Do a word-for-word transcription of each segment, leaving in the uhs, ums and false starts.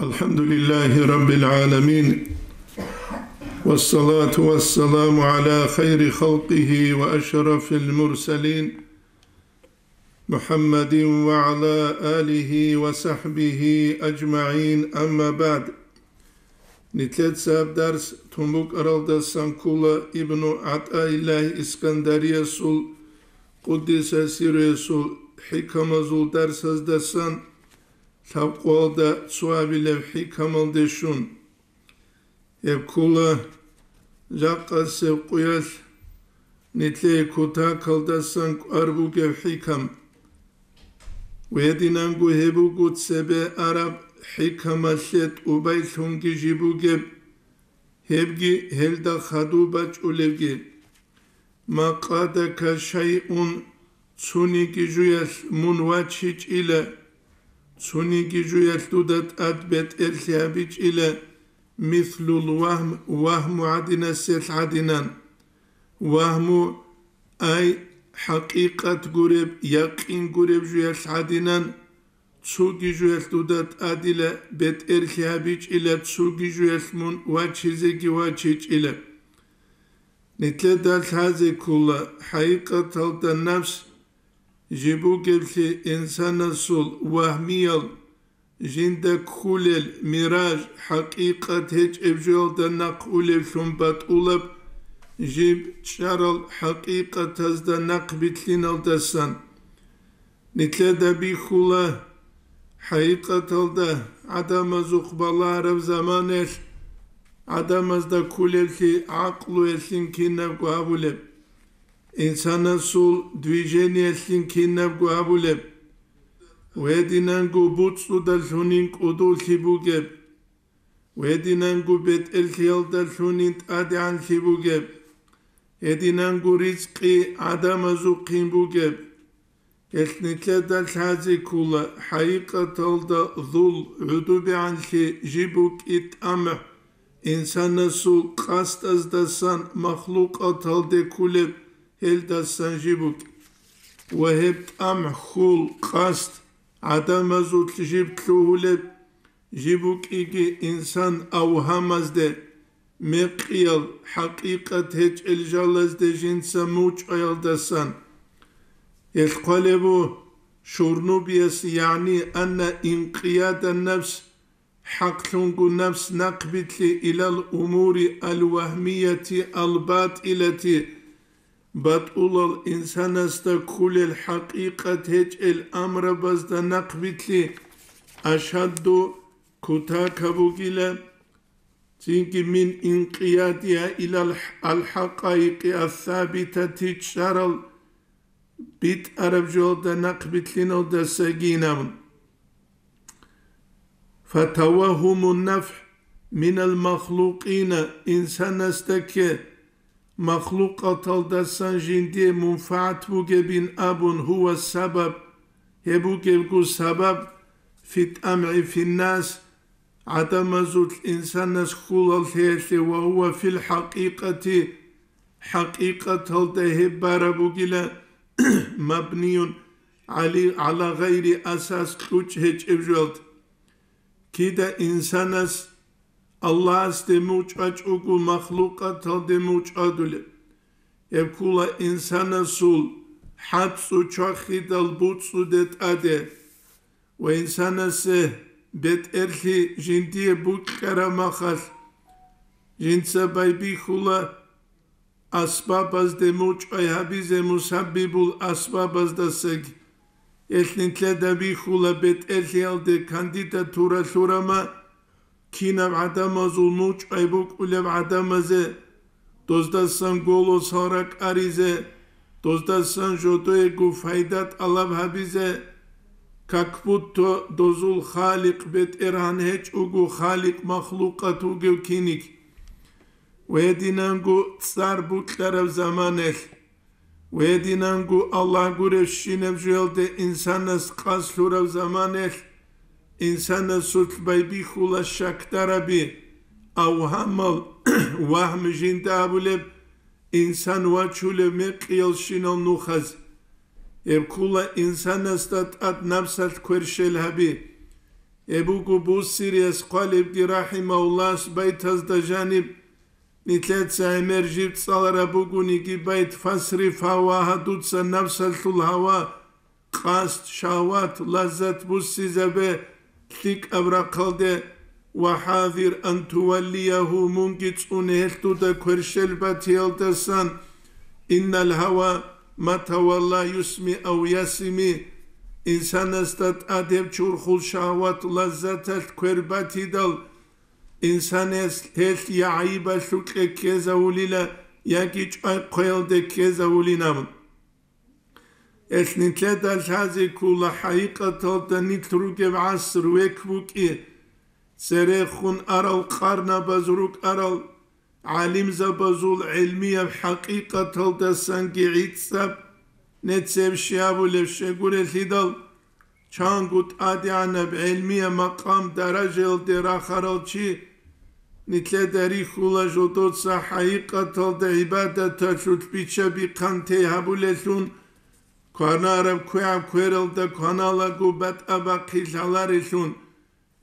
الحمد لله رب العالمين، والصلاة والسلام على خير خلقه وأشرف المرسلين، محمد وعلى آله وصحبه أجمعين، أما بعد. Нилъеца гьаб дарс тун букӀаралдасан ккола Ибну ГӀатӀаиллагь Искандариясул, къуддиса сирругьу, хӀикамазул дарсаздасан, лъабкъоялда цоабилеб хӀикамалде щун. Гьеб ккола жакъасеб къуялъ нилъее кутакалдасан кӀвар бугеб хӀикам. Гьединанго гьеб буго цебе араб хӀикамалъе тӀубайлъунги жиб бугеб, гьебги гьелда хадуб бачӀулебги. Ма къадака шайъун, цониги жуялъ мун вачичӀила, цониги жуялъ дуда тӀад бетӀерлъи гьабичӀила, мислул вагьм, вагьму гӀадинаселъ гӀадинан. Вагьму, ай, хӀакъикъат гуреб, якъин гуреб жуялъ гӀадинан, цоги жуялъ дуда тӀадила бетӀерлъи гьабичӀила, цоги жуялъ мун вачизеги вачичӀила. Нилъеда лъазе ккола, хӀакъикъаталда напс жиб бугеблъи инсанасул вагьмиял, жинда кколел мираж, хӀакъикъат гьечӀеб жоялда нахъ улевлъун батӀулаб, жиб чӀарал хӀакъикъатазда нахъ билълъиналдасан. Нилъеда бихьула, хӀакъикъаталда гӀадамазухъ балагьараб заманаялъ гӀадамазда кколеблъи гӀакълуялъин кинабго гьабулеб, инсанасул движениялъин кинабго гьабулеб, гьединанго буцӀцӀудалъунин кӀудуллъи бугеб, гьединанго бетӀерлъиялдалъунин тӀадегӀанлъи бугеб, гьединанго ризкъи гӀадамазухъин бугеб. Гьелъ нилъеда лъазе ккола, хӀакъикъаталда зул гӀодобегӀанлъи жиб букӀи тӀамгӀ, инсанасул къасдаздасан махлукъаталде кколеб гьелдасан жиб букӀи. Ва гьеб тӀамгӀ, хьул, къасд гӀадамазулъ жиб лъугьулеб, жиб букӀиги инсан авгьамазде, мекъиял, хӀакъикъат гьечӀел жалазде жинца мучӀаялдасан. Гьелъ хъвалебу Шурнубияс, ягӀни анна инкъияда напс, хӀакълъунго напс нахъбилълъи илал умури ал-вагьмияти ал-батӀилати, батӀулал инсанасда кколел хӀакъикъат гьечӀел амрабазда нахъбилълъи ашадду кутака бугила, цинги мин инкъиядиа илал алхӀакъаикъи ассабитати чӀарал битӀараб жоялда нахъбилълъиналдасагин абун. Фатавагьумун нафгӀ минал махлукъина, инсанасда кке махлукъаталдасан жиндие мунфагӀат бугебин абун, гьува сабаб, гьеб бугебго сабаб, фи тӀамгӀи финнас, гӀадамазулъ инсанас хьулалъеялъе, ва гьува фил хӀакъикъати, хӀакъикъаталда гьеб бараб бугила, мабниюн гӀали-, гӀала гъайри асас, кьучӀ гьечӀеб жоялда. Кида инсанас Аллагьасде мучӀвачӀого махлукъаталде мучӀвадулеб. Гьеб ккола инсанасул хӀацӀцӀу чвахидал буцӀцӀуде тӀаде ва инсанасе бетӀерлъи жиндие букьараб махалъ, жинца байбихьула асбабазде мучӀвай гьабизе мусаббибул асбабаздасаги. Гьелъ нилъеда бихьула бетӀерлъиялде кандидатура лъурама, кинаб гӀадамазул мучӀвай букӀулеб гӀадамазе, доздасан голосал ракӀаризе, доздасан жодоего пайда тӀалаб гьабизе, как будто дозул Халикъ БетӀергьан гьечӀого, Халикъ махлукъат вугев киниг. Гьединанго цӀар букьараб заманалъ, гьединанго Аллагь гуребщинаб жоялде инсанас къасд лъураб заманалъ, инсанасулъ байбихьула щакдараби, авгьамал, вагьм жинда абулеб, инсан вачулев мекъиялщинал нухаз. Гьеб ккола инсанасда тӀад напсалъ кверщел гьаби. Гьеб буго Бусириялъ хъвалебги рахӀимагьуллагьас байтазда жаниб, нилъеца гӀемер жиб цӀалараб бугониги байт: «Фасриф гьавагьа», дуца напсалъул гьава, къасд, шагьват, лаззат буссизабе лъикӀаб рахъалде, «ва хӀазир ан туваллиягьу», мунги цӀуне гьелъ дуда кверщел батиялдасан, «иннал гьава ма тавалла юсми ав ясими», инсанасда тӀад гьеб чурхул шагьват, лаззаталъ квер батидал, инсанас гьелъ я гӀайибалъукье ккезавулила, яги чӀвай-хъвеялде ккезавулинаб. Гьелъ нилъеда лъазе ккола хӀакъикъаталда нилъ ругеб гӀаср век букӀи, церехун арал къарнабаз рукӀарал, гӀалимзабазул гӀелмияб хӀакъикъаталдасанги гӀицӀаб, нецеб щиб абулеб щегурелъидал, чанго тӀадегӀанаб гӀелмияб макъам даражаялде рахарал чи, нилъеда рихьула жодоца хӀакъикъаталда гӀибадаталъулъ бича-бихъан тей гьабулелъун, кванараб квегӀаб квералда кваналаго батӀа-бахъи лъаларелъун,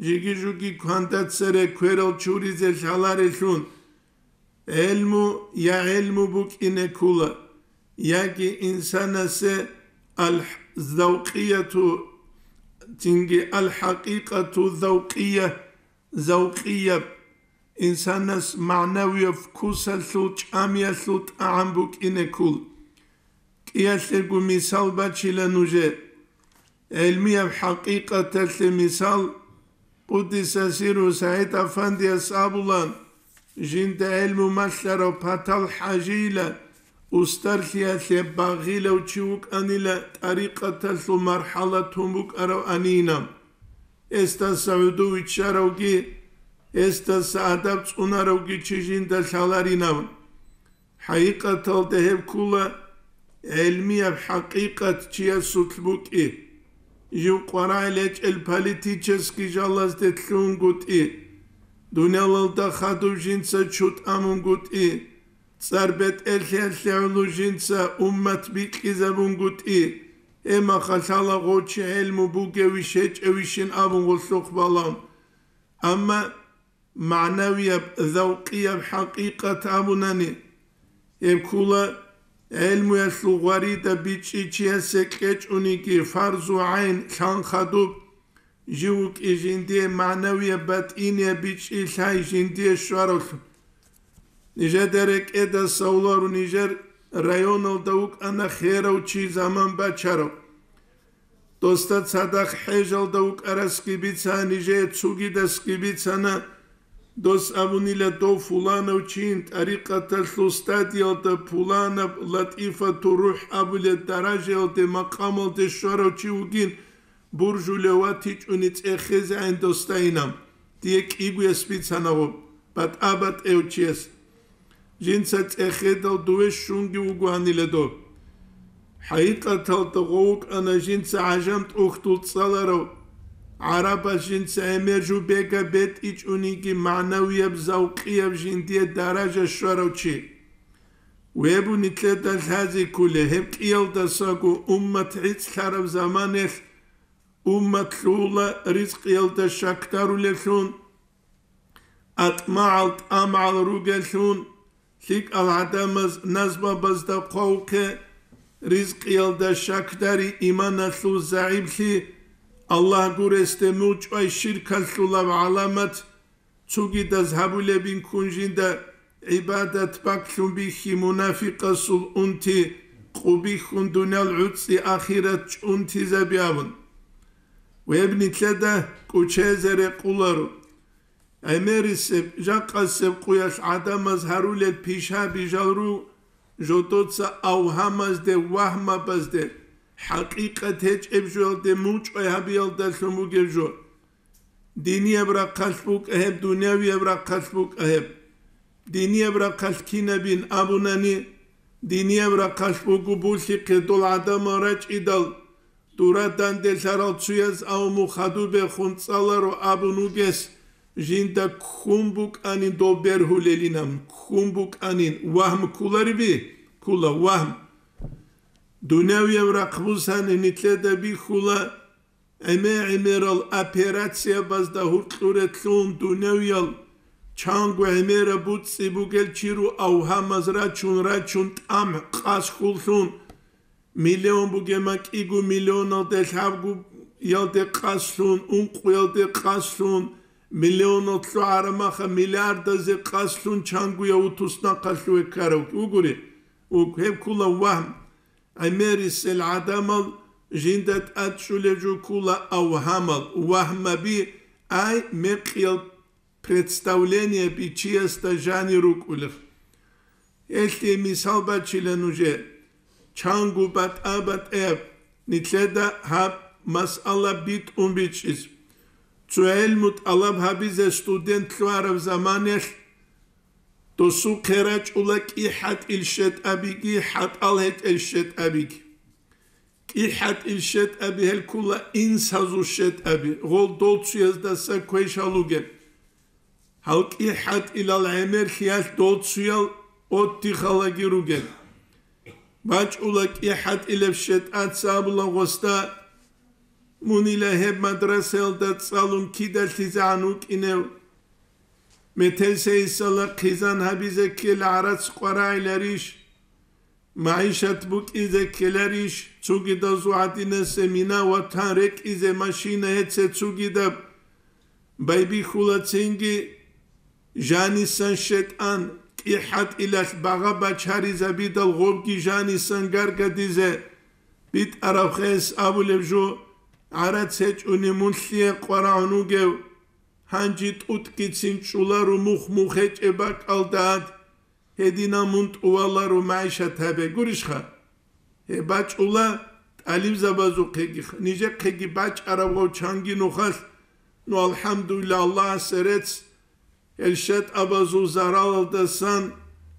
жиги-жуги кванда цере кверал чуризе лъаларелъун, гӀелму я гӀелму букӀине ккола, яги инсанасе аль-, завкъияту, цинги аль-хӀакъикъату завкъия, завкъияб, инсанас магӀнавияб вкусалъул, чӀамиялъул тӀагӀам букӀине ккол. КӀиялъего мисал бачила нужер. ГӀелмияб хӀакъикъаталъе мисал, Къуддиса сирру СагӀид Афандияс абулан, жинда гӀелму малъарав Патал ХӀажийила устарлъиялъе багъилав чи вукӀанила тӀарикъаталъул мархӀала тун букӀарав анинаб. Гьесдаса гӀодов виччаравги, гьесдаса адаб цӀунаравги чи жинда лъаларинаб. ХӀакъикъаталда гьеб ккола гӀелмияб хӀакъикъат чиясулъ букӀи, жив къваригӀел гьечӀел политический жалазде лъугьунгутӀи, дуниялалда хадуб жинца чутӀ амунгутӀи, цӀар бетӀерлъиялъе гӀоло жинца уммат бикьизабунгутӀи, гьеб мехалъ гьала гъов чи гӀелму бугевищ гьечӀевищин абун гъолъухъ балан. Амма магӀнавияб, завкъияб хӀакъикъат абунани, гьеб ккола гӀелмуялъул гъварида бичӀчӀи чиясе кьечӀониги фарзу гӀайн лъан хадуб, жив вукӀи жиндие магӀнавияб, батӀинияб бичӀчӀи лъай жиндие щваравлъун. Нижеда рекӀеда савлару нижер районалда вукӀана херав чи заман бачарав. Досда цадахъ хӀежалда вукӀарасги бицана, нижее цугидасги бицана, дос абунила дов фуланав чин тӀарикъаталъул стадиялда пуланаб латӀифату рухӀ абулеб даражаялде, макъамалде щварав чи вугин, буржулев ватичӀони цӀехезегӀан досдайинаб, дие кӀигояс бицана гъоб, батӀа-батӀев чияс. Жинца цӀехедал дуве щунги вугоанила доб. ХӀакъикъаталда гъов вукӀана жинца гӀажам тӀухьдул цӀаларав, гӀарабаз жинца гӀемер жубега бетӀичӀониги магӀнавияб, завкъияб жиндие даража щварав чи. Вебу нилъеда лъазе кколей гьеб кӀиялдасаго уммат гӀицӀлъараб заманалъ, уммат лъугьула ризкъиялда щакдарулевлъун, атӀмагӀал, тӀамагӀал ругеллъун, лъикӀал гӀадамаз назмабазда хъвавухъе, ризкъиялда щакдари, иманалъул загӀиплъи, Аллагь гуресде мучӀвай ширкалъулаб гӀаламат, цугидаз гьабулебин ккун жинда гӀибадат бакълъун бихьи, мунафикъасул унти къу бихьун, дуниял гӀуцӀи ахират чӀунтизаби абун. Веб нилъеда кӀучезе рекъуларо. ГӀемерисеб, жакъасеб къуялъ гӀадамаз гьарулел пишаби жал руго жодоца авгьамазде, вагьмабазде, хӀакъикъат гьечӀеб жоялде мучӀвай гьабиялдалъун бугеб жо. Динияб рахъалъ букӀа гьеб, дунявияб рахъалъ букӀа гьеб. Динияб рахъалъ кинабин абунани, динияб рахъалъ буго булъихъе дол гӀадамал рачӀидал, дура данделъарал цуяз авму хадубехун цӀаларо абун вугес, жинда ккун букӀанин дол бергьулелинан, ккун букӀанин, вагьм кколариби? Ккола вагьм. Дунявияб рахъ бусани нилъеда бихьула, ГӀемер-гӀемерал операциябазда гьуркьуретлъун дуневиял чанго гӀемераб буцӀцӀи бугел чи ру авгьамаз рачун-рачун тӀамхӀ къасхьуллъун, миллион бугема кӀиго миллионалде лъабгоялде къаслъун, ункъуялде къаслъун, миллионал лъугӀарамаха миллиардазе къаслъун чангуя вутуснахъалъуве ккарав вугури, вуг, гьеб ккула вагьм. ГӀемерисел гӀадамал жинда тӀадчӀулеб жо ккула авгьамал, вагьмаби, ай, мекъиял представлениеби чиясда жанир рукӀулеб. Гьелъие мисал бачила нужее. Чанго батӀа-батӀаяб нилъеда гьаб масъала битӀун бичӀчӀизе. Цо гӀелму тӀалаб гьабизе студент лъугьараб заманалъ досухъе рачӀула кӀихӀатӀил щетӀабиги хӀатӀал гьетӀел щетӀабиги. КӀихӀатӀил щетӀаби гьел ккула инсазул щетӀаби, гъол доцуяздаса квешал ругел. Гьал кӀихӀатӀилал гӀемерлъиялъ доцуял оттихалаги ругел. БачӀула кӀихӀатӀилеб щетӀаца абула гъосда: «Мунила гьеб мадрасаялда цӀалун кидалъизегӀан вукӀинев? Метерсейисала хъизан гьабизе ккела гӀарац къварагӀиларищ? МагӀишат букӀизе ккеларищ, цугидазул гӀадинасе мина ватан рекӀизе машина гьеце цугидаб?» Байбихьула цинги жанисан щетӀан, кӀихӀатӀилалъ багъа бачаризабидал гъобги жанисан гаргадизе битӀараб хес абулеб жо, гӀарац гьечӀони мун лъие къварагӀун вугев? Гьанжи тӀутӀгицин чӀулару мух-мух гьечӀеб бакӀалда ад. Гьединал мун тӀуваларо магӀишат гьабе гурищха? Гьеб бачӀула тӀалибзабазухъеги, нижехъеги бачӀараб гъав чанги нухалъ, ну, алхӀамдулилла, Аллагьасе рецц, гьел щетӀабазул заралалдасан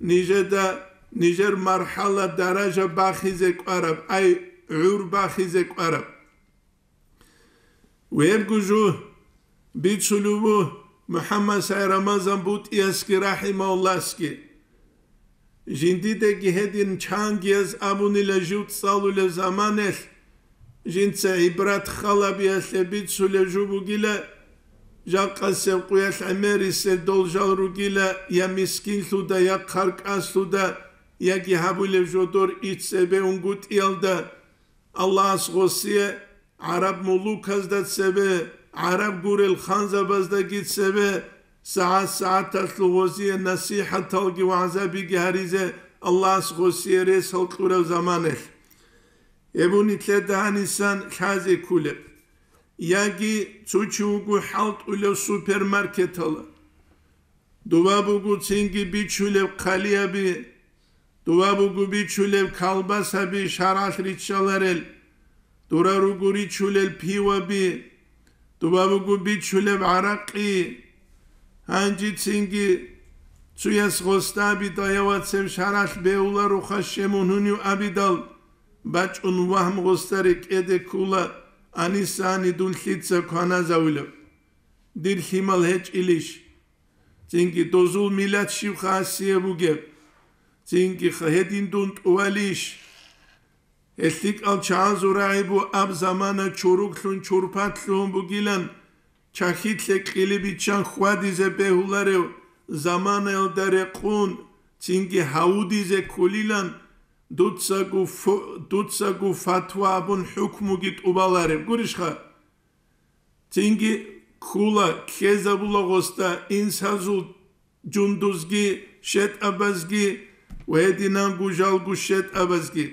нижеда нижер мархӀала даража бахизе кӀвараб, ай, гӀур бахизе кӀвараб. Вебгу жу бицулев ву МухӀаммад СагӀид Рамазан БутӀиясги рахӀимагьуллагьасги. Жиндидаги гьедин чангияз абунила жив цӀалулев заманалъ, жинца гӀибрат халабиялъе бицулев жо бугила, жакъасеб къуялъ гӀемерисел дол жал ругила я мискинлъуда, я хъаркӀалъуда, яги гьабулев жо дор иццебе унгутӀиялда, Аллагьас гъосие гӀараб мулуказда цебе, гӀараб гурел ханзабаздаги цебе, сагӀат-сагӀаталъув гъозие насихӀаталги вагӀзабиги гьаризе Аллагьас гъосие ресал кьурав заманалъ. Гьеб нилъеда гьанисан лъазе кколеб. Яги цо чи вуго хӀалтӀулев супермаркетала. Дова буго цинги бичулеб хъалияби, дова буго бичулеб калбасаби шаргӀалъ риччаларел, дора руго ричулел пиваби, дова буго бичулеб гӀаракъи. Гьанжи цинги цуяс гъостаби даяв вацев шаргӀалъ бегьуларо хъащемун гьунив абидал, бачӀун вагьм гъоста рекӀеде ккула, анисани дун лъица кваназавилев. Дир лъимал гьечӀилищ? Цинги дозул миллат щиб хасияб бугеб? Цинги гьедин дун тӀувалищ? Гьел лъикӀал чагӀазул рагӀи бу аб замана чуруклъун чурпатлъун бугилан, чахьитлъе кьили биччан хьвадизе бегьуларев заманаялда рекъун, цинги гьавудизе кколилан, дуцаго фу-, дуцаго фатва абун хӀукмуги тӀубалареб гурищха? Цинги ккула, ккезабула гъосда инсазул жундузги, щетӀабазги ва гьединанго жалго щетӀабазги.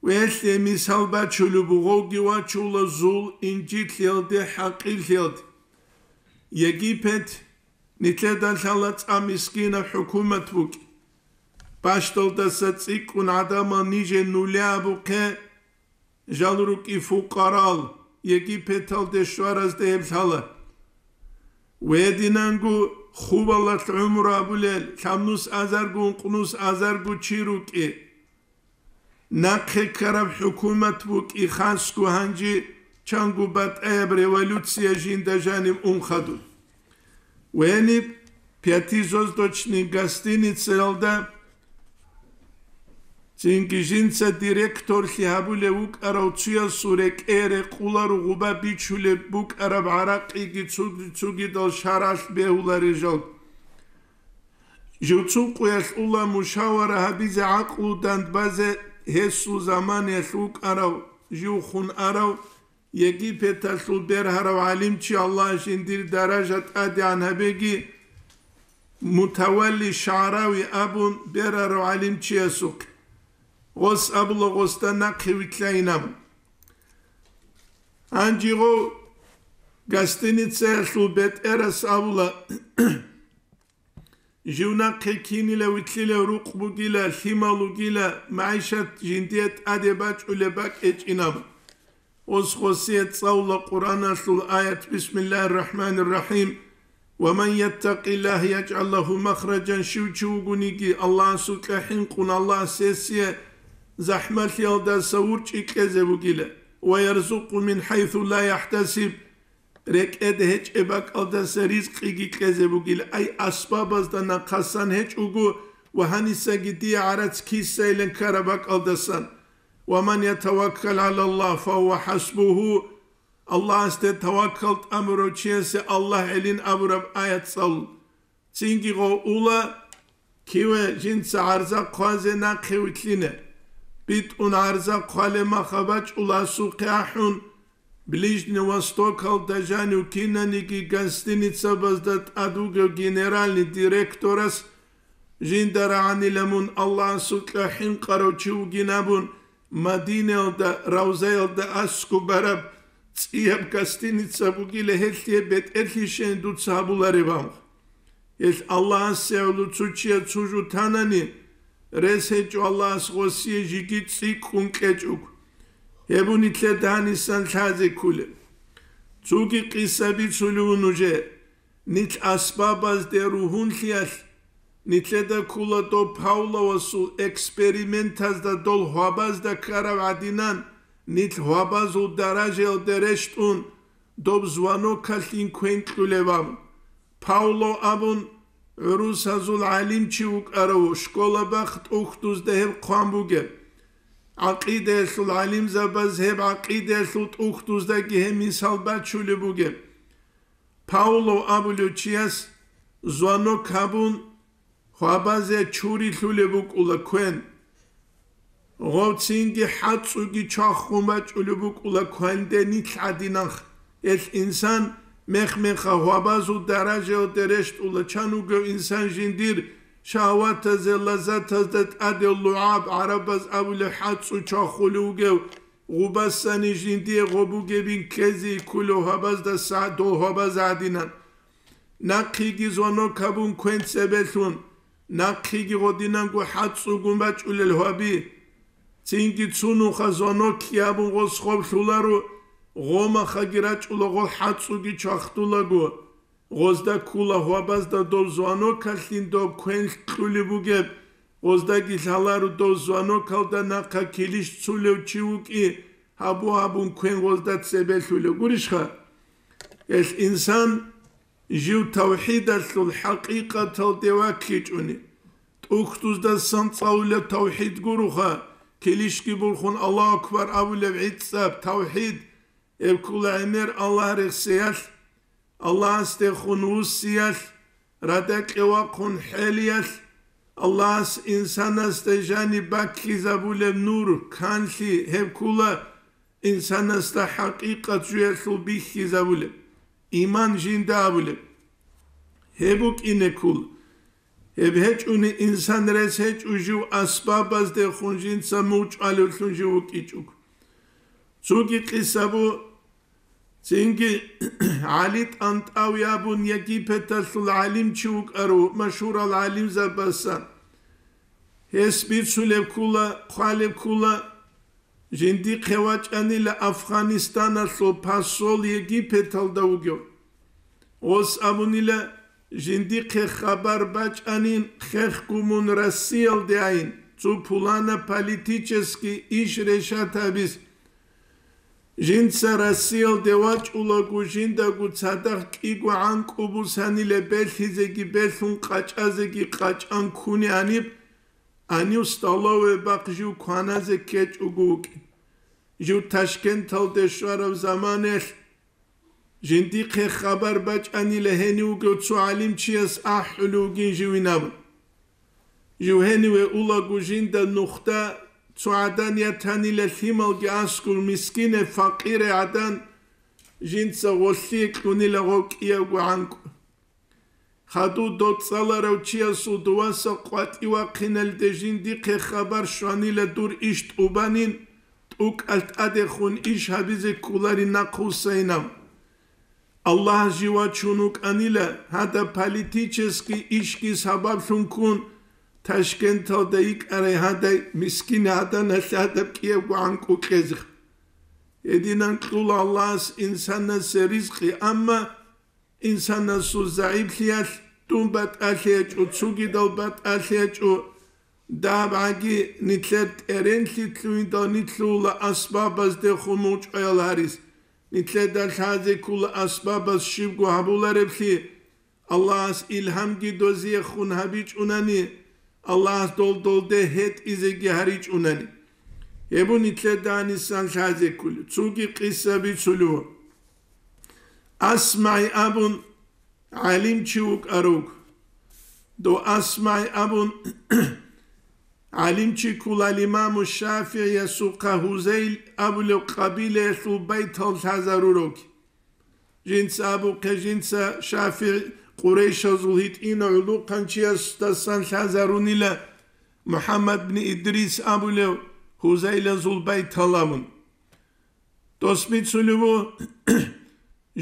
Велъе мисал бачулеб бугоги вачула зул инжитлъиялде, хӀакъирлъиялде. Египет нилъеда лъала цӀа мискинаб хӀукумат букӀи. Бащдалдаса цӀикӀкӀун гӀадамал ниже нуле абухъе, жал рукӀи фукъарал, Египеталде щваразда гьеб лъала. Гьединанго хубалалъ гӀумру абулел, лъабнус азарго, ункънус азарго чи рукӀи. Нахъе ккараб хӀукумат букӀи хасго гьанжи чанго батӀаяб революция жинда жанив ун хадуб. Вениб пятизвездочный гостиницаялда Цинги жинца директорлъи гьабулев вукӀарав цуясул рекӀее рекъоларо гъуба бичулеб букӀараб гӀаракъиги цуги-, цугидал шаргӀалъ бегьуларел жал. Жив цо къуялъ ула мушавара гьабизе, гӀакълу дандбазе гьесул заманаялъ вукӀарав, жив хун арав, Египеталъул бергьарав гӀалимчи, Аллагь жиндир даража тӀадегӀан гьабеги, Мутавалли ШагӀрави абун бергьарав гӀалимчиясухъе. Гъос абула гъосда нахъе вилълъайин абун. Гьанже гъов гостиницаялъул бетӀерас абула, жив нахъе кинила вилълъилев рукъ бугила, лъимал вугила, магӀишат жиндие тӀаде бачӀулеб бакӀ гьечӀин абун. Гъос гъосие цӀалула Къуръаналъул аят: «Бисмиллагьир рахӀманир рахӀим. Ва ман яттакъиллагьа яжгӀал лагьу махражан», щив чи вугониги, Аллагьасукьа хӀинкъун, Аллагьас гьесие захӀмалъиялдаса урчӀи кьезе бугила, «ва ярзукъгьу мин хӀайсу ла яхӀтасиб», рекӀеде гьечӀеб бакӀалдаса ризкъиги кьезе бугила, ай асбабазда нахъасан гьечӀого ва гьанисаги дие гӀарац кисайилан ккараб бакӀалдасан. «Ва ман ятаваккал гӀалаллагь, фагьува хӀасбугьу», Аллагьасде таваккал тӀамурав чиясе Аллагь гӀелин абураб аят цӀалул. Цинги гъов ула, киве жинца гӀарза хъвазе нахъе вилълъине. БитӀун гӀарза хъвалеб мах абачӀула асухъе ахӀун, Ближний Востокалда жанив кинаниги гостиницабазда тӀад вугев генеральный директорас, жинда рагӀанила мун Аллагьасукьа хӀинкъарав чи вугин абун, Мадинаялда равзаялда аскӀубараб цӀияб гостиница бугила, гьелъие бетӀерлъи щейин дуца гьабулареб абун. Гьелъ Аллагьасе гӀоло цо чияс цо жо танани, рес гьечӀо Аллагьас гъосие жеги цӀикӀкӀун кьечӀого. Гьеб нилъеда гьанисан лъазе кколеб. Цоги къиса бицулев вуго нужее. Нилъ асбабазде ругьунлъиялъ, нилъеда ккола доб Павловасул экспериментазда дол гьвабазда ккараб гӀадинан, нилъ гьвабазул даражаялде рещтӀун, доб звонокалъин квен кьулеб абун. Павлов абун гӀурусазул гӀалимчи вукӀарав, школа бахъ тӀухьдузда гьеб хъван бугеб. ГӀакъидаялъул гӀалимзабаз гьеб гӀакъидаялъул тӀухьдуздаги гьеб мисал бачулеб бугеб. Павлов абулев чияс звонок гьабун, гьвабазе чурилъулеб букӀула квен. Гъов цинги хӀацӀцӀуги чвахун бачӀулеб букӀула квенде нилъ гӀадинанха. Гьелъ инсан мех-меха гьвабазул даражаялде рещтӀула, чан вугев инсан жиндир шагьватазе, лаззатазда тӀаде лугӀаб, гӀарабаз абулеб, хӀацӀцӀу чвахулев вугев, гъубасани жиндие гъо бугебин ккезе кколев гьабаздаса дол гьабаз гӀадинан. Нахъеги звонок гьабун квен цебелъун, нахъеги гъодинанго хӀацӀцӀугун бачӀулел гьаби. Цинги цунуха звонок гьабун гъос хъоблъуларо, гъомахаги рачӀула гъол хӀацӀцӀуги чвахтулаго. Гъозда ккула гьвабазда дов звонокалъин доб квен кьулеб бугеб, гъоздаги лъаларо дов звонокалда нахъа килищ цулев чи вукӀи, гьабу-гьабун квен гъозда цебелъулев гурищха? Гьелъ инсан жив тавхӀидалъул хӀакъикъаталде ваккичӀони, тӀухьдуздасан цӀалулеб тавхӀид гуроха, килищги бурхун Аллагьу акбар абулеб гӀицӀаб тавхӀид, гьеб ккула гӀемер Аллагь рехсеялъ, Аллагьасдехун вуссиялъ, радакье вахъун хӀелиялъ, Аллагьас инсанасда жаниб баккизабулеб нур, канлъи, гьеб ккула инсанасда хӀакъикъат жуялъул бихьизабулеб, иман жинда абулеб. Гьеб букӀине ккула. Гьеб гьечӀони инсан рес гьечӀо жив асбабаздехун жинца мугъчӀвалевлъун жив вукӀичӀого. Цоги къиса бу, цинги ГӀали ТӀантӀави абун Египеталъул гӀалимчи вукӀарав машгьурал гӀалимзабасан. Гьес бицулеб ккула, хъвалеб ккула, жиндихъе вачӀанила Афгъанистаналъул посол Египеталда вугев. Гъос абунила, жиндихъе хабар бачӀанин, хехго мун Россиялде айин, цо пулана политический иш решат гьабиз. Жинца Россиялде вачӀулаго, жиндаго цадахъ кӀиго гӀанкӀу бусанила, белъизеги белъун, къачӀазеги къачӀан ккуни гьаниб, Гьанив столовая бахъ жив кваназе ккечӀого вукӀин. Жив Ташкенталде щвараб заманаялъ жиндихъе хабар бачӀанила гьенив вугев цо гӀалимчияс ахӀулев вугин живин абун. Жив гьениве улаго жинда нухда цо гӀадан ятанила лъималги аскӀур мискине, факъире гӀадан, жинца гъолъие кьунила гъов кӀиявго гӀанкӀу. Хадув доцӀцӀаларав чиясул дуваса къватӀив вахъиналде жиндихъе хабар щванила дур иш тӀубанин, тӀукӀалъ тӀадехун иш гьабизе кколарин нахъвуссайинав. Аллагь жив вачун вукӀанила, гьадаб политический ишги сабаблъун ккун, Ташкенталда йикӀарай гьадай мискин гӀаданалъ гьадаб кӀиявго гӀанкӀу кьезех. Гьединан кьула Аллагьас инсанасе ризкъи, амма инсанасул загӀиплъиялъ дун батӀалъи гьечӀо, цугидал батӀалъи гьечӀо, дагьаб гӀаги нилъер тӀеренлъи лъугьиндал нилъула асбабаздехун мучӀаял гьарис, нилъеда лъазе ккола асбабаз щибго гьабулареблъи, Аллагьас илгьамги дозиехун гьабичӀунани, Аллагьас дол-долде гьетӀизеги гьаричӀунани. Гьеб нилъеда гьанисан лъазе кколев. Цоги къиса бицулев. АсмагӀи абун гӀалимчи вукӀарав. Дов АсмагӀи абун гӀалимчи кколал имаму ШафигӀиясухъа Гьузайл абулев къабилаялъул байтал лъазарурав. Жинца абухъе, жинца ШафигӀ Къурайшазул гьитӀинав гӀулухъанчиясдасан лъазарунила МухӀаммад бни Идрис абулев Гьузайлазул байтал абун. Дос бицулев ву,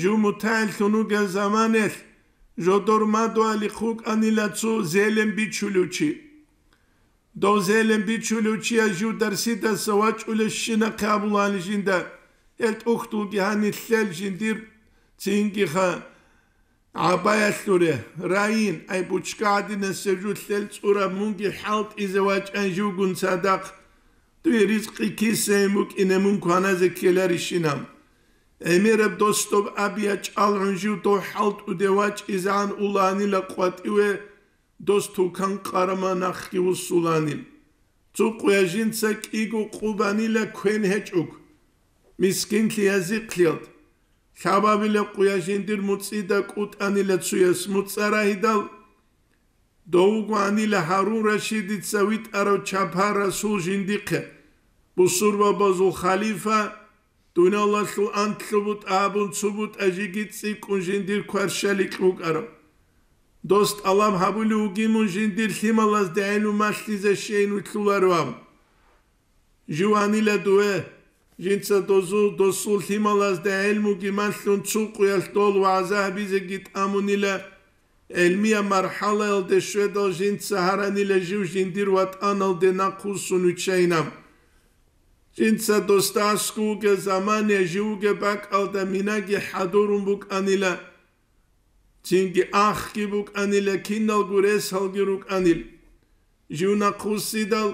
жив мутагӀиллъун вугел заманалъ жодор мадугьалихъ вукӀанила цо зелен бичулев чи. Дов зелен бичулев чияс жив дарсидаса вачӀулебщинахъе абулаан жинда, гьел тӀухьдулги гьанилъел жиндир цингиха гӀабаялъуре, райин, ай бучка гӀадинасеб жулъел цӀураб мунги хӀалтӀизе вачӀан живгун цадахъ, дуе ризкъи кисайин букӀине мун кваназе ккеларищинаб. ГӀемераб дос доб аб ячӀалгӀун жив дов хӀалтӀуде вачӀизегӀан улаанила къватӀиве, дос тукан къарама нахъги вуссуланил. Цо къуя жинца кӀиго къубанила квен гьечӀого, мискинлъи язихълъиялд. Лъабабила къуя жиндир муцӀида кӀутӀанила цуяс муцӀа рагьидал, дов вугоанила Гьарун Рашидица витӀарав чапар расул жиндихъе, бусурбабазул халифа, дуниялалъул анлъго бутӀа абун цо бутӀа жеги цӀикӀкӀун жиндир кваршаликь вукӀарав. Дос тӀалаб гьабулев вугин мун жиндир лъималазда гӀелму малъизе щейин вилълъуларев абун. Жив анила дуе, жинца дозул, досул лъималазда гӀелмуги малъун цо къуялъ дол вагӀза гьабизеги тӀамунила, гӀелмияб мархӀалаялде щведал жинца гьаранила жив жиндир ватӀаналде нахъвуссун виччайинаб. Жинца досда аскӀов вугеб замана жив вугеб бакӀалда минаги хӀадурун букӀанила, цинги ахги букӀанила, киналго ресалги рукӀанил. Жив нахъвуссидал,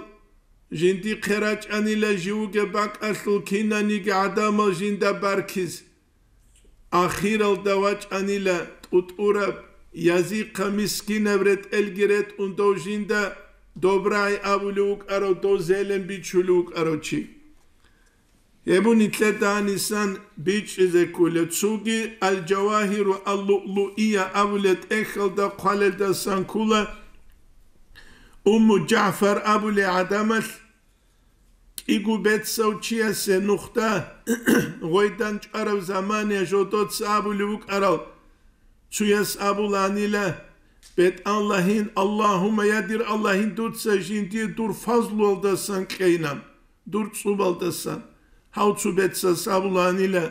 жиндихъе рачӀанила жив вугеб бакӀалъул кинаниги гӀадамал жинда баркиз. Ахиралда вачӀанила тӀутӀураб, язихъа мискинаб ретӀелги ретӀун дов жинда Добрай абулев вукӀарав, дов зелен бичулев вукӀарав чи. Гьеб нилъеда гьанисан бичӀчӀизе ккола. Цоги Ал-Жавагьиру Ал-Луълуия абулеб тӀехьалда хъвалелдасан ккола, Умму ЖагӀфар абулей гӀадамалъ кӀиго бецав чиясе нухда гъойдан чӀвараб замана жодоца абулев вукӀарал, цуяс абуланила, БетӀаллагьин, Аллагьумма, я дир Аллагьин, дуца жиндие дур фазлуялдасан кьейинан, дур цӀубалдасан. Гьав цо бецас абуланила,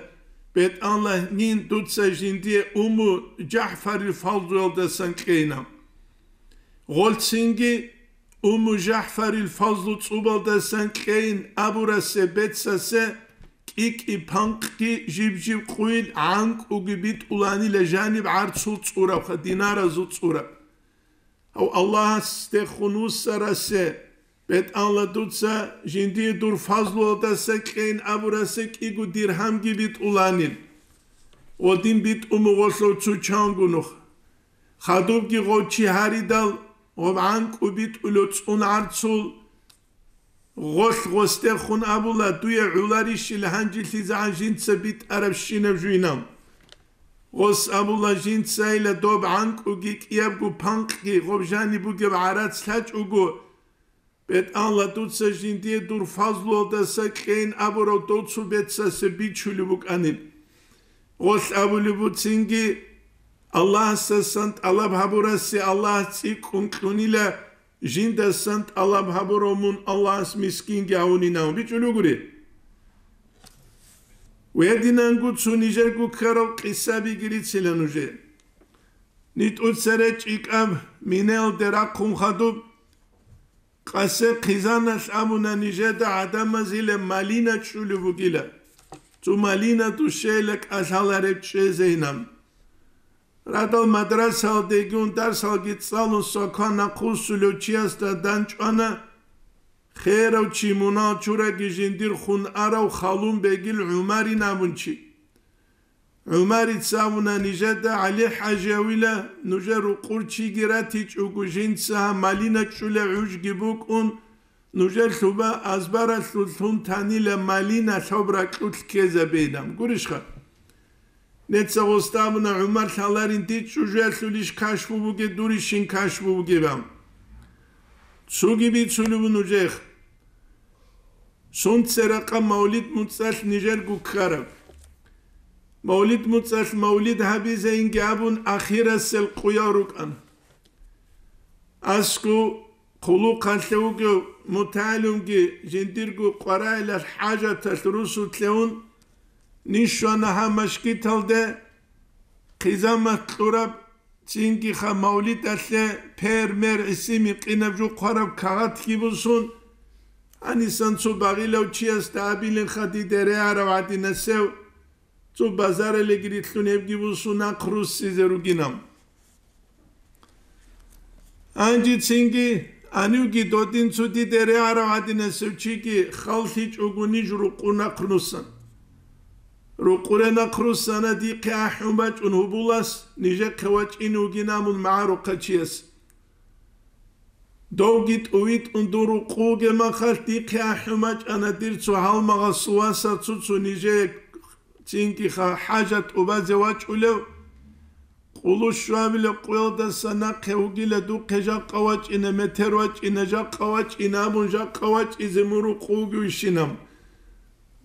БетӀаллагьин, дуца жиндие Умму ЖагӀфарил фазлуялдасан кьейинан. Гъолцинги Умму ЖагӀфарил фазлу цӀубалдасан кьейин абурасе бецасе кӀи-кӀи панкъги жиб-жиб къуйил гӀанкӀуги битӀуланила жаниб гӀарцул цӀурабха, динаразул цӀураб. Гьав Аллагьасдехун вуссарасе, БетӀалла, дуца жиндие дур фазлуялдаса кьейин абурасе кӀиго диргьамги битӀуланил. Гъодин битӀун бугъолъул цо чанго нух. Хадубги гъов чи гьаридал, Гъоб гӀанкӀу битӀулев цӀун гӀарцул гъолъ гъосдехун абула: «Дуе гӀоларищила гьанжилъизегӀан жинца битӀарабщинаб жуйнав?» Гъос абула: «Жинцайила доб гӀанкӀуги кӀиябго панкъги гъоб жаниб бугеб гӀарац лъачӀого, БетӀалла, дуца жиндие дур фазлуялдаса кьейин абурав дов цо бецасе бичулеб букӀанил». Гъолъ абулеб буцинги, Аллагьасдасан тӀалаб гьабурасе Аллагь цӀикӀкӀун кьунила, жиндасан тӀалаб гьабурав мун Аллагьас мискинги гьавунинав бичӀулугури. Гьединанго цо нижерго ккарал къисабиги рицила нужее. НитӀуца речӀчӀикӀаб минелде рахъун хадуб, къасе хъизаналъ абуна нижеда гӀадамазила малина чӀулеб бугила. Цо малина душейла кӀалъалареб чӀезейилан. Радал мадрасалдегун дарсалги цӀалун свакан нахъвуссулев чиясда данчӀвана херав чи, мунал чураги жиндир хун арав Халун бегил ГӀумарин абун чи. ГӀумарица абуна нижеда: ГӀали-хӀажиявила, нужер рукъур чиги ратичӀого, жинца гьаб малина чӀулей гӀужги букӀун, нужер лъуба азбаралъулъ лъун танила малина лъоб ракьулъ ккезабейилан. Гурищха? Неца гъосда абуна: «ГӀумар лъаларин, дир чӀужуялъулищ кашфу бугеб, дурищин кашфу бугеб?» Цоги бицулеб нужехъ. Сунце ракъа мавлид-муцӀалъ нижерго ккараб. Мавлид-муцӀалъ мавлид гьабизейинги абун ахирасел къуял рукӀана. АскӀов хъулухъалъе вугев мутагӀалимги жиндирго къваригӀелалъ хӀажаталъ русулъе ун, ниж щвана гьаб машгиталде, хъизамат кьураб, цинги гьаб мавлидалъе пер-мер гӀисин-микъинаб жо хъвараб кагъатги босун, гьанисан цо багъилав чиясда абилинха дида регӀарав гӀадинасев, цо базаралеги рилълъун гьебги босун нахъ руссизе ругинав. Гьанжецинги, гьанивги додин цо дида регӀарав гӀадинасев чиги халлъичӀого ниж рукъур нахъ руссан. Рукъуре нахъ руссана дихъе ахӀун бачӀун гьубулас, нижехъе вачӀине вугин абун магӀарухъав чияс. Довги тӀувитӀун дун рукъуге махалъ дихъе ахӀун бачӀана дир цо гьалмагъасул васас цо-цо нижее цинги ха-, хӀажат тӀубазе вачӀулев. Къулу щвабилеб къуялдаса нахъе вугила духъе жакъа вачӀина, метер вачӀина, жакъа вачӀина абун, жакъа вачӀизе мун рукъуге вищинаб.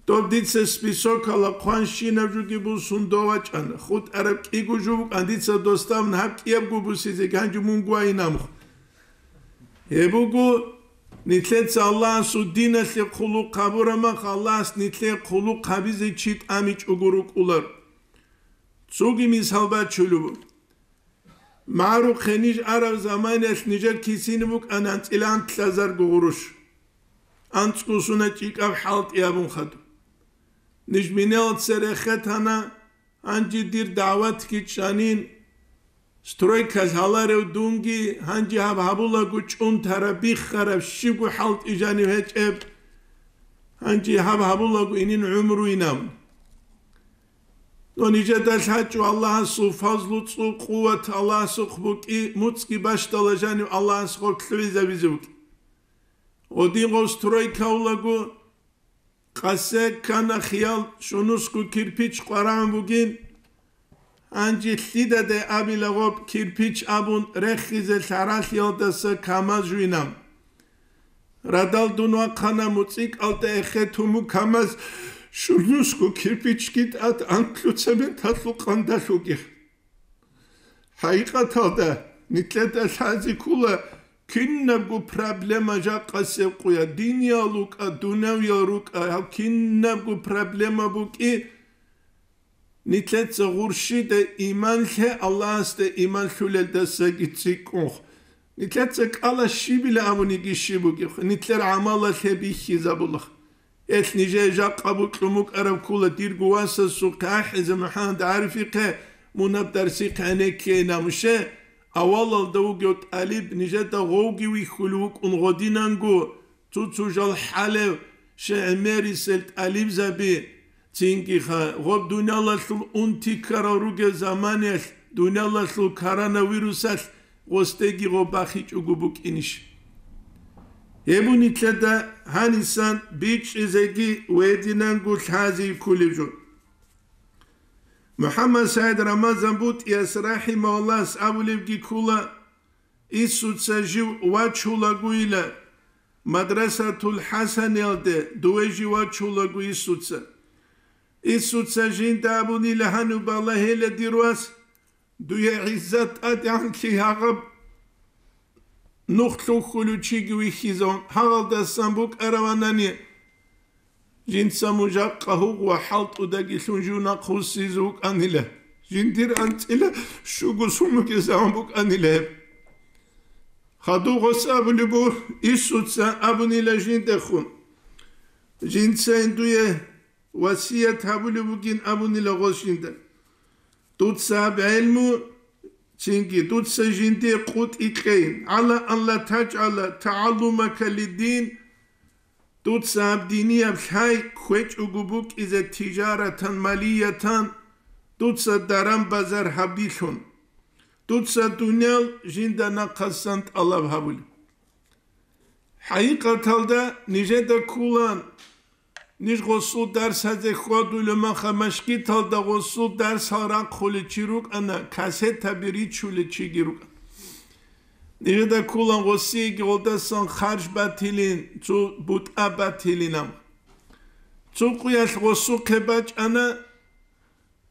Доб дица списокала хъванщинаб жуги бусун дов вачӀана. ХутӀараб кӀиго жо букӀан дица досда абун гьаб кӀиябго бусизе, гьанже мунго вайинамухъ. Гьеб буго, нилъеца Аллагьасул диналъе хъулухъ гьабураб мах, Аллагьас нилъее хъулухъ гьабизе чи тӀамичӀого рукӀулар. Цоги мисал бачулеб. МагӀарухъе ниж араб заманаялъ нижер кисине букӀана анцӀила анкьазарго гъурущ. АнцӀго сунат чӀикӀаб хӀалтӀи абун хадуб. Ниж минелаца рехетана, гьанже дир дагӀватги чӀанин, стройка лъаларев дунги, гьанже гьаб гьабулаго чӀунтараб, биххараб, щибго хӀалтӀи жанив гьечӀеб, гьанже гьаб гьабулаго инин гӀумруйин абун. Но нижеда лъачӀо Аллагьасул фазлу, цӀу, къуват Аллагьасухъ букӀи, муцӀги бащдала жанив Аллагьас гъорлъ лъугӀизабизе вукӀи. Гъодин гъов стройка улаго, къасе ккана хиял, щунусго кирпич къварагӀун бугин, гьанже лъидаде абила гъоб кирпич абун рехизе лъаралъиялдаса КамАЗ жуйнам. Радал дун вахъана муцӀикӀалда эхетун букӀ КамАЗ, щунусго кирпичги тӀад анкьго цементалъул къандалъуги. ХӀакъикъаталда, нилъеда лъазе ккола кинабго проблема жакъасеб къуя, диниял рукӀа, дуневиял рукӀа, гьаб кинабго проблема букӀи, нилъеца гъурщида иман лъе, Аллагьасда иман лъулелдасаги цӀикӀкӀунх. Нилъеца кӀала щибила абуниги щиб бугеб, нилъер гӀамалалъе бихьизабулах. Гьелъ нижее жакъа букьун букӀараб ккола дирго васасухъе ахӀизе МухӀаммад ГӀарифихъе, мун гьаб дарсихъе гӀенеккейин абун. Авалалда вугев тӀалиб нижеда гъовги вихьулев вукӀун гъодинанго, цо-цо жал хӀалев, щегӀмерисел тӀалибзаби, цинги ха-, гъоб дуниялалъул унти ккарал ругел заманаялъ, дуниялалъул коронавирусалъ гъосдеги гъо бахичӀого букӀинищ? Гьеб нилъеда гьанисан бичӀчӀизеги ва гьединанго лъазе кколеб жо. МухӀаммад СагӀид Рамазан БутӀияс рахӀимагьуллагьас абулебги ккола: «Инсуца жив вачулагойила Мадрасатул ХӀасаниялде, дове жив вачулаго инсуца. Инсуца жинда абунила: гьаниб балагьила, дир вас, дуе гӀиззат тӀадегӀанлъи гьагъаб нух лъухьулев чиги вихьизавун, гьагъалдасан букӀараванани, жинца мун жакъа гьугъ ва хӀалтӀудаги лъун жив нахъвуссизе вукӀанила, жиндир анцӀила щуго сумуги заман букӀанила гьеб». Хадуб гъос абулеб буго, инсуца абунила жиндехун: «Жинцайин дуе васият гьабулеб бугин», — абунила гъос жинда. «Дуца гьаб гӀелму, цинги дуца жинде къотӀи кьейин, гӀала ан ла тажгӀала тагӀаллумака лиддин, дуца гьаб динияб лъай кквечӀого букӀизе тижаратан, малиятан, дуца даран-базар гьабилъун. Дуца дуниял жинда нахъасан тӀалаб гьабулеб». ХӀакъикъаталда нижеда кколаан, ниж гъосул дарсазе хьвадулев маха, машгиталда гъосул дарсал рахъулев чи рукӀана, кассетаби ричулев чиги рукӀана. Нижеда кколаан гъосиеги гъолдасан харж батилин, цо бутӀа батилин. Амма цо къуялъ гъосухъе бачӀана,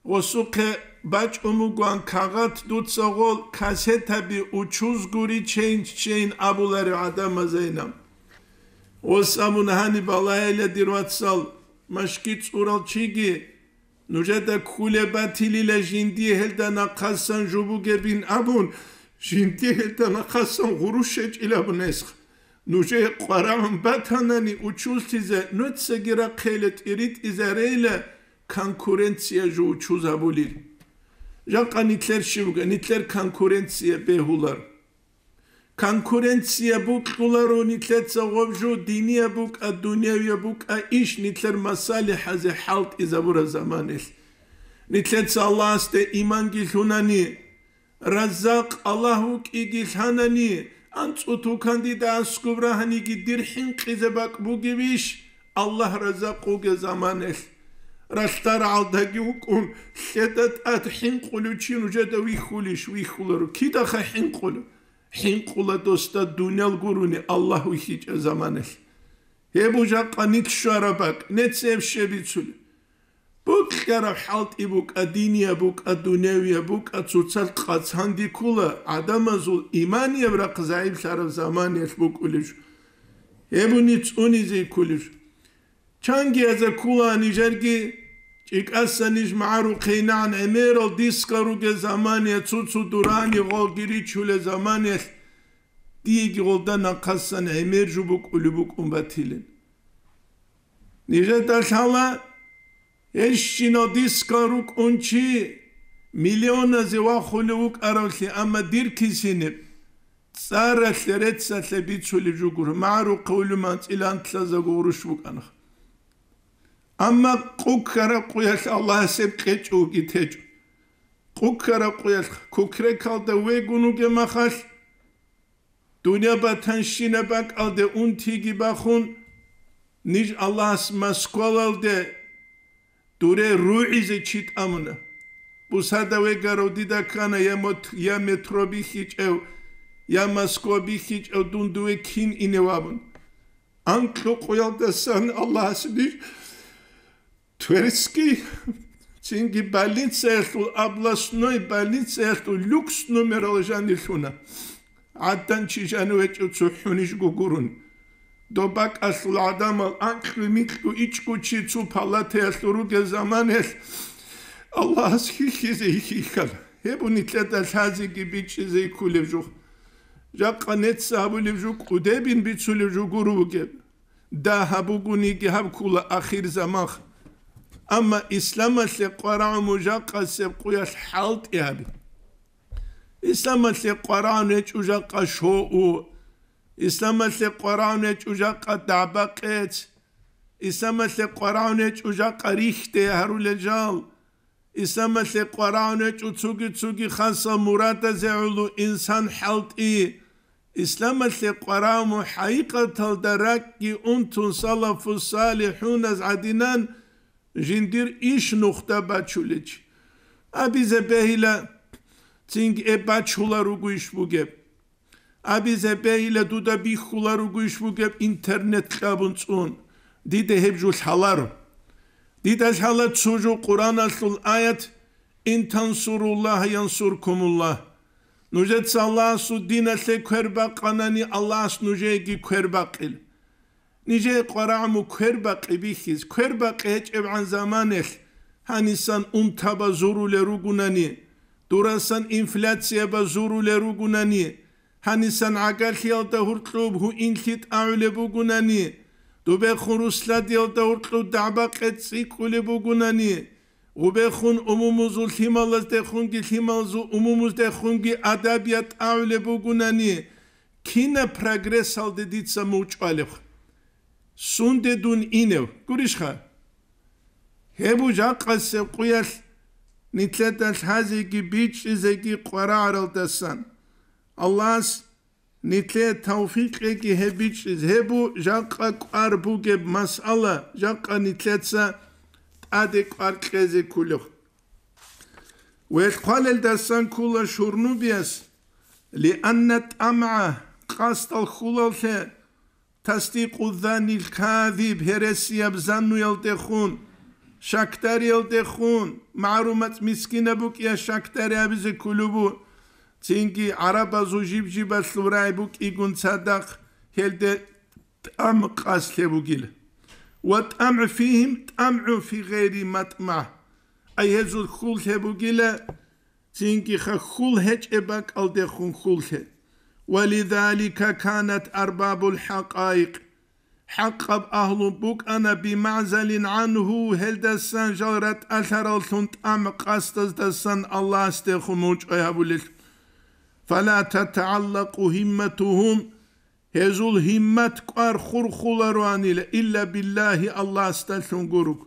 гъосухъе бачӀун бугоан кагъат, дуца гъол кассетаби учуз гури чейин-чейин абуларев гӀадамазайинаб. Гъос абун гьаниб балагьила, дир вацал, машги цӀурал чиги, нужеда кколеб батилила жиндие гьелда нахъасан жо бугебин абун, жиндие гьелда нахъасан гъурущ гьечӀилабун эсх. Нужее къварагӀун батанани учузлъизе, нуцаги рахъейила, тӀиритӀизарейила, конкуренция жо учуз гьабулел. Жакъа нилъер щиб буго, нилъер конкуренция бегьулар. Конкуренция букьуларо нилъеца гъоб жо, динияб букӀа, дунявияб букӀа, иш нилъер масалихӀазе хӀалтӀизабураб заманилъ. Нилъеца Аллагьасде иманги лъунани, Раззакъ Аллагь вукӀиги лъанани, анцӀу тукандида аскӀоб рагьаниги дир хӀинкъизе бакӀ бугевищ, Аллагь Раззакъ вугев заманелъ? Ралъдал рагӀалдаги вукӀун, лъеда тӀад хӀинкъулев чи нужеда вихьулищ? Вихьуларо. Кидаха хӀинкъулев? ХӀинкъула досда дуниял гурони Аллагь вихьичӀеб заманелъ. Гьеб жакъа нилъ щвараб бакӀ, нецеб щиб бицулеб? Букьараб хӀалтӀи букӀа, динияб букӀа, дунявияб букӀа, цоцалъ къацанде ккола гӀадамазул иманияб рахъ загӀиплъараб заманиялъ букӀулеб жо. Гьеб буни цӀунизе кколеб жо. Чанги яза ккола нижерги, чӀикӀаса ниж магӀарухъейилан гӀемерал дискал ругел замания, цо-цо дурани гъолги ричулел заманиялъ, диеги гъолда нахъасан гӀемер жо букӀулеб букӀун батилин. Нижеда лъала, гьелщинал дискал рукӀун чи миллионазе вахулев вукӀаравлъи, амма дир кисиниб цӀаралъе, реццалъе бицулеб жо гуро, магӀарухъе вулев анцӀила антлъазаго гъурущ букӀана. Амма къу ккараб къуялъ Аллагьас гьеб кьечӀого течӀо. Къу ккараб къуялъ кукрекалда вегун вугеб махалъ, дуниял батанщинаб бакӀалде унтиги бахун, ниж Аллагьас Москвалалде дуре ругӀизе чи тӀамуна. Бусада вегарав дида ккана я мот-, я метро бихьичӀев, я Москва бихьичӀев, дун дуве кин инев абун. Анкьукъуялдасан Аллагьас ниж Тверский, цинги больницаялъул, областной больницаялъул люкс номерал жанир лъуна. ГӀадан чи жанив гьечӀев цо хӀуниж гугурун. Доб бакӀалъул гӀадамал анкьго-микьго ичӀго чи цо палатаялъур ругел заманаялъ Аллагьас хьихьизе хьихьана. Гьеб нилъеда лъазеги бичӀчӀизе кколеб жо. Жакъа нецц гьабулеб жо кӀудебин бицулеб жо гуро бугеб. Дагь гьаб бугониги гьаб ккола ахир заман. Амма исламалъе къварагӀун мун жакъасеб къуялъ хӀалтӀи гьабе. Исламалъе къварагӀун гьечӀо жакъа шоу. Исламалъе къварагӀун гьечӀо жакъа дагӀба-къец. Исламалъе къварагӀун гьечӀо жакъа рихьде гьарулел жал. Исламалъе къварагӀун гьечӀо цоги-цоги хасал мурадазе гӀоло инсан хӀалтӀи. Исламалъе къварагӀун хӀакъикъаталда ракӀги унтун салафу салихӀуназ гӀадинан жиндир иш нухда бачулечи. Абизе бегьила, цинги эб бачула ругу иш бугеб. Абизе бегьила, дуда бихьула ругу иш бугеб интернет кьабун цӀун. Дида гьеб жо лъаларо. Дида лъала цо жо Къуръаналъул аят: «Ин тансуруллагьа янсуркумуллагь». Нужеца Аллагьасул диналъе квер бакъанани, Аллагьас нужееги квер бакъила. Нижее къварагӀму квер бакъи бихьиз, квер бакъи гьечӀебгӀан заманалъ, гьанисан унтаба зурулел ругунани, дурасан инфляцияба зурулел ругунани, гьанисан гӀагарлъиялда гьуркьуб гьуинлъи тӀагӀулеб бугунани, дубехун русладиялда гьуркьуб дагӀба-къец цӀикӀкӀулеб бугунани, гъубехун умумузул лъималаздехунги лъималазул умумуздехунги адабият тӀагӀулеб бугунани, кина прогрессалде дица мугьчӀвалеб? Сунде дун инев? Гурищха? Гьеб жакъасеб къуялъ нилъеда лъазеги бичӀчӀизеги къварагӀаралдасан. Аллагьас нилъее тавфикъ кьеги гьеб бичӀчӀиз. Гьеб жакъа кӀвар бугеб масъала, жакъа нилъеца тӀаде кӀвар кьезе кколеб. Велъ хъвалелдасан ккола шурнубияс, лианна тӀамгӀа, къасдал хьулалъе, тасдикъу занил казиб, гьересияб зануялдехун, щакдариялдехун, магӀарумац мискинаб букӀиялъ щакдари абизе кколеб бу, цинги гӀарабазул жиб-жибалъул рагӀи букӀигун цадахъ гьелде тӀам къаслъе бугила. Ва тӀамгӀу фигьим тӀамгӀу фи гъайри матӀмагӀ. Ай гьезул хьул лъе бугила, цинги хьул гьечӀеб бакӀалдехун хьул лъе. Ва лизалика канат арбабул хӀакъаикъ, хӀакъаб агьлу букӀана бимагӀзалин гӀангьу, гьелдасан жал ратӀалъараллъун тӀам къасдаздасан Аллагьасдехун мугьчӀвай гьабулел. Фала татагӀаллакъу гьимматугьум, гьезул гьиммат кӀвар хурхулароанила илла биллагьи, Аллагьасдалъун гуруг.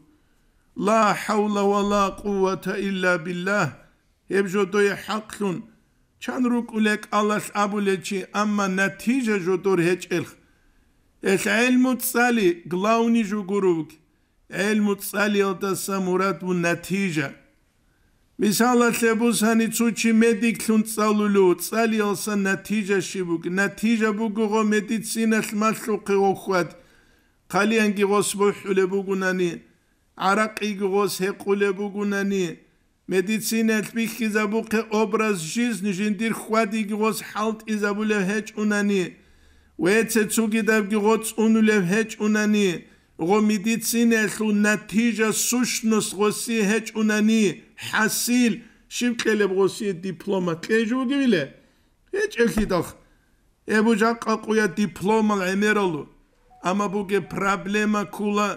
Ла хӀавла ва ла къуввата илла биллагь. Гьеб жодое хӀакълъун, чан рукӀулеб кӀалалъ абулел чи, амма натижа жодор гьечӀелъ. Гьелъ гӀелму цӀали главный жо гуруг. ГӀелму цӀалиялдаса мурад вун натижа. Мисалалъе бусани, цо чи медиклъун цӀалулев, цӀалиялса натижа щиб буго? Натижа буго гъо медициналъ малъухъе гъо хьвад. Хъалиянги гъос бухӀулеб бугунани, гӀаракъиги гъос гьекъулеб бугунани, медицинаялъ бихьизабухъе образ жизни жиндир хьвадиги гъос хӀалтӀизабулев гьечӀунани, веце цугидабги гъо цӀунулев гьечӀунани, гъо медицинаялъул натижа, сущность гъосие гьечӀунани, хӀасил, щиб кьелеб гъосие диплома кьей жо бугевиле? ГьечӀеблъидал. Гьеб жакъа къуя дипломал гӀемералу. Амма бугеб проблема ккула.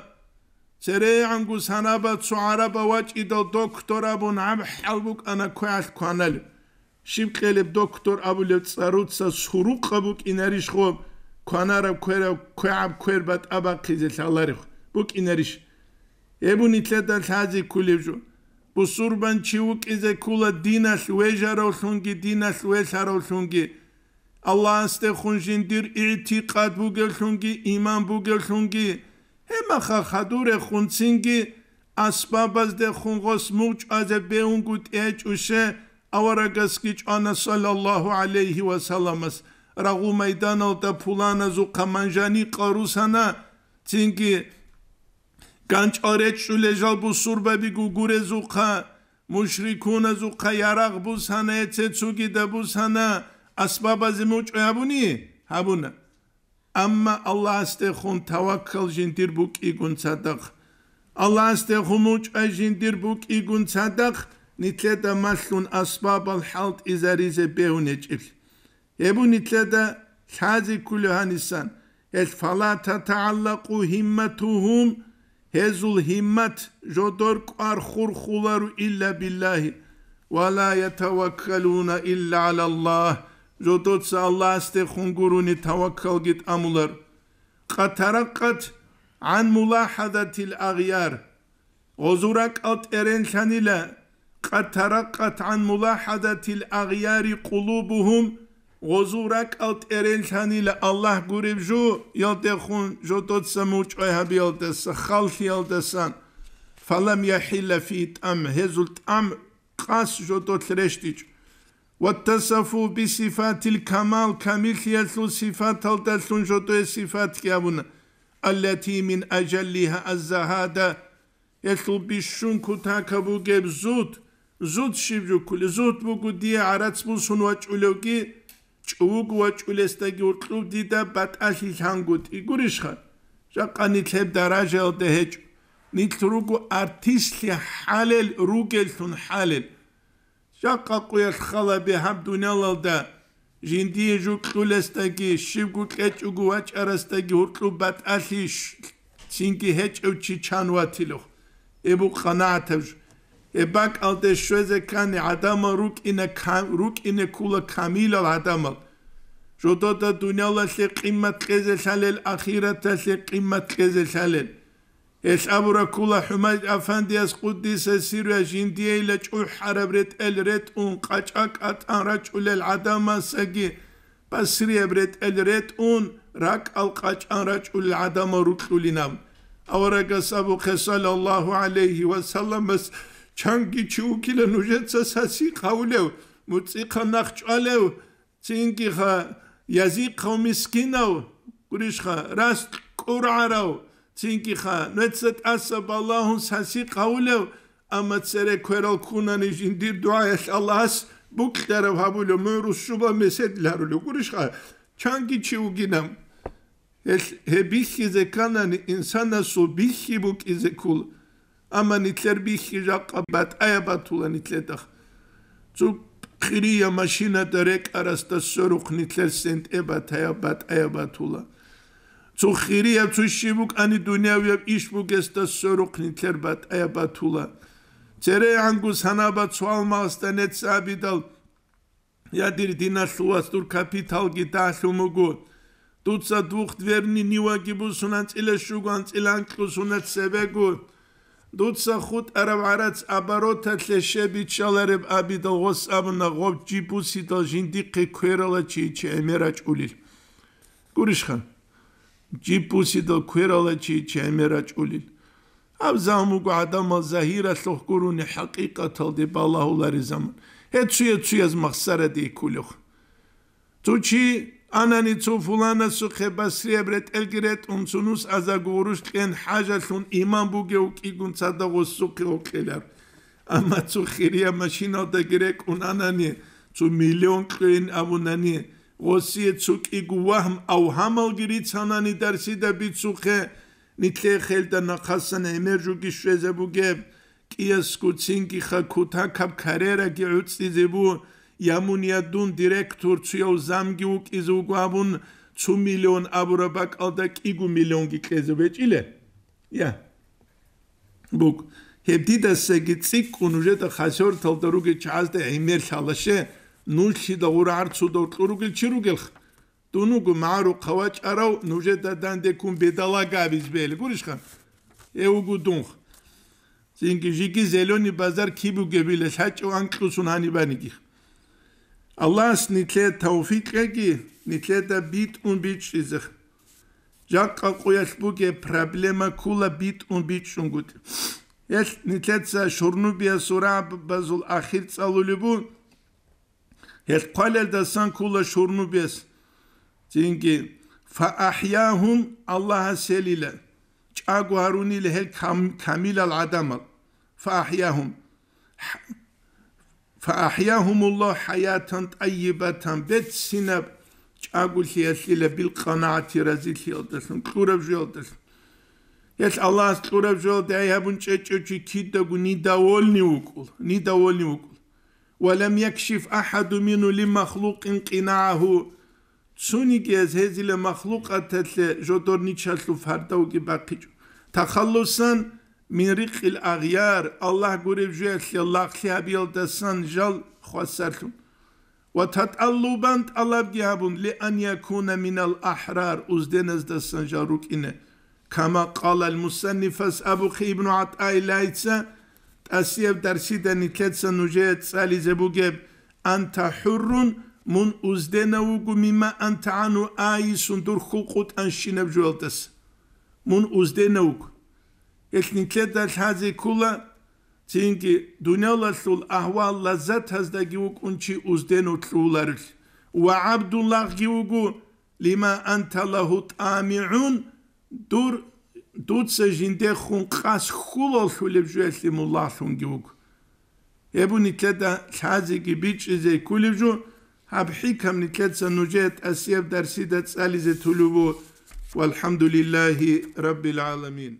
ЦерегӀанго санаба цо гӀараба вачӀидал доктор абун гьаб хӀал букӀана квегӀалъ кваналеб. Щиб кьелеб доктор абулеб цӀаруца сурукъа букӀинарищ гъоб кванараб квераб квегӀаб квер батӀа бахъизе лъаларев букӀинарищ? Гьеб нилъеда лъазе кколеб жо. Бусурбан чи вукӀизе ккула диналъ вежаравлъунги, диналъ велъаравлъунги. Аллагьасдехун жиндир игӀтикъад бугевлъунги, иман бугевлъунги, гьебмаха хадурехун цинги асбабаздехун гъос мугъчӀвазе бегьунгутӀи гьечӀуще, аварагасги чӀвана, саллаллагьу гӀалайгьи ва салламас, рагъу майданалда пуланазухъа манжаникъал русана, цинги ганчӀал речӀчӀулел жал бусурбаби гугурезухъа, мушрикуназухъа ярагъ бусана, гьеце цугида бусана, асбабазе мугъчӀвай гьабуни? Гьабуна. Амма Аллагьасдехун таваккал жиндир букӀигун цадахъ, Аллагьасдехун мугъчӀвай жиндир букӀигун цадахъ, нилъеда малъун асбабал хӀалтӀизаризе бегьун гьечӀеблъи. Гьеб нилъеда лъазе кколеб гьанисан, гьелъ фала татагӀаллакъу гьимматугьум, гьезул гьиммат жодор кӀвар хурхуларо илла биллагьи, ва ла ятаваккалуна илла гӀалаллагь, жодоца Аллагьасдехун гурони таваккалги тӀамулар. Къатаракъат гӀан мулахӀадатил агъяр. Гъозул ракӀал тӀеренлъанила, къад таракъат гӀан мулахӀадатил агъяри къулубугьум, гъозул ракӀал тӀерелъанила Аллагь гуреб жо, ялдехун жодоца мучӀай гьабиялдаса, халлъиялдасан, фалам яхӀилла фи тӀам, гьезул тӀам къас жодолъ рещтӀичӀ. Ваттасафу бисифатил камал, камиллъиялъул сифаталдалъун жодое сифатги абуна, аллати мин ажаллиха аззагьада, гьелъул бищун кутакаб бугеб зуд, зуд щиб жуккули, зуд буго дие гӀарац бусун вачӀулевги, чӀувуг вачӀулесдаги гьуркьуб дида батӀалъи лъангутӀи гурищха? Жакъа нилъ гьеб даражаялда гьечӀо. Нилъ руго артистлъи хӀалел ругеллъун хӀалел. Жакъа къуялъ хала бегьаб дуниялалда жиндие жукьулесдаги, щибго кьечӀого вачӀарасдаги гьуркьуб батӀалъи щ-, цинги гьечӀев чи чан ватилухъ. Эбу къанагӀатаб жо. Гьеб бакӀалде щвезе ккани гӀадамал рукӀине кам-, рукӀине ккула камилал гӀадамал. Жодода дуниялалъе къиммат кьезе лъалел, ахираталъе къиммат кьезе лъалел. Гьелъ абура ккула ХӀумайд Афандияс, къуддиса сирругьу, жиндиейила чӀухӀараб ретӀел ретӀун, къачӀа кӀатӀан рачӀулел гӀадамасаги басрияб ретӀел ретӀун, ракӀал къачӀан рачӀулел гӀадамал рукьулинаб. Аварагас абухъе, саллаллагьу гӀалайгьи ва салламас, чанги чи вукила нужеца сасикъ гьавулев, муцӀихъа нахъ чӀвалев, Цинги-ха, язихъав мискинав, гурищха, раст кӀургӀарав, цинги-ха, нуца тӀаса балагьун сасикъ гьавулев, амма цере кверал ккунани жиндир дугӀаялъ Аллагьас букьараб гьабулев, мугӀрус щуба месед ларулев, гурищха, чанги чи вугинав. Гьелъ гьеб бихьизе кканани, инсанасул бихьи букӀизе ккола. Амма нилъер бихьи жакъа батӀаяб батула нилъедахъ. Цо хирия машинада рекӀарасда сверухъ нилъер сентӀе батаяб батӀаяб батула. Цо хирия цо щиб букӀани дуниявияб иш бугесда сверухъ нилъер батӀаяб батула. ЦерегӀанго санаба цо алмагъасда нецц абидал, Я, дир диналъул вас, дур капиталги дагьлъун буго. Дуца двухдверный Ниваги бусун анцӀила щуго, анцӀила анкьго сунат цебего. Дуца хутӀараб гӀарац обороталъе щеб биччалареб абидал гъос абуна, гъоб жиб бусидал жиндихъе кверала чи чи гӀемер рачӀулел. Гурищха? Жиб бусидал кверала чи чи гӀемер рачӀулел. Гьаб заман буго гӀадамал загьиралъухъ гурони, хӀакъикъаталде балагьулари заман. Гьеб цуя-цуяз махсараде кколев. Цо чи анани, цо фуланасухъе басрияб ретӀелги ретӀун, цо нус азарго гъурущ кьен, хӀажалъун иман бугев вукӀигун цадагъ гъосухъе гьукъилар. Амма цо хирия машиналдаги рекӀун анани, цо миллион кьейин абунани, гъосие цо кӀиго вагьм-авгьамалги рицанани дарсида бицухъе, Нилъехъелда нахъасан гӀемер жуги щвезабугеб, кӀиясго цинги-ха кутакаб карьераги гӀуцӀизебу, я мун, я дун директор цуяв замги вукӀизе вуго абун, цо миллион абураб бакӀалда кӀиго миллионги кьезе бечӀиле? Я. Бук, гьеб дидасаги цӀикӀкӀун нужеда хасерталда ругел чагӀазда гӀемер лъалаще, нуллъида гъура гӀарцудав кьуругел чи ругелха? Дун вуго магӀарухъа вачӀарав, нужеда данде ккун бедалага абизе бегьилан гурищха? Гьев вуго дунх. Цинги жиги зелёный базар киб бугебила лъачӀев анкьусун гьанибаниги. Аллагьас нилъее тавфикъ кьеги, нилъеда битӀун бичӀчӀизе. Жакъа къуялъ бугеб проблема ккула битӀун бичӀчӀунгутӀи. Гьелъ нилъеца Шурнубиясул рагӀабазул ахир цӀалулеб бу, Гьелъ хъвалелдасан ккула Шурнубияс. Цинги, фаахӀягьум, Аллагьас гьелила чӀаго гьарунила гьел кам-, камилал гӀадамал. ФаахӀягьум. ХӀ-, фаахӀягьумуллагь хӀаятан тӀайибатан, берцинаб чӀаголъиялъила, билкъанагӀати разилъиялдалъун, кьураб жоялдалъун. Гьелъ Аллагьас кьураб жоялда гӀей гьабун чӀечӀев чи кидаго недовольный вукӀула, недовольный вукӀула. «Ва лам якшиф ахӀаду мингьу ли махлукъин къинагӀагьу», цониги гьез гьезила махлукъаталъе жодор ничалъул фардавги бахъичӀо. «Тахаллусан мин рикъил агъяр», Аллагь гуреб жоялъе лагълъи гьабиялдасан жал хвасарлъун. «Ва татӀаллубан», тӀалабги гьабун, «ли ан якуна минал ахӀрар», узденаздасан жал рукӀине. Кама къалал мусаннифас абухъе Ибну ГӀатӀаиллагьица, тӀасияб дарсида нилъеца нужее цӀализе бугеб: «Анта хӀуррун», мун узденав вуго, «мимма анта гӀанну айисун», дур хьул къутӀанщинаб жоялдаса. Мун узденав вуго. Гьелъ нилъеда лъазе ккола, цинги дуниялалъул агьвал-лаззатаздаги вукӀун чи узденав лъугьуларелъ. Ва гӀабдун лагъги вуго, «лима анта лагьу тӀамигӀун», дур, дуца жиндехун къас хьулалъулеб жоялъе мун лагълъунги вуго. Гьеб нилъеда лъазеги бичӀчӀизе кколеб жо, гьаб хӀикам нилъеца нужее тӀасияб дарсида цӀализе тулеб буго. ВалхӀамдулиллагьи раббил гӀаламин.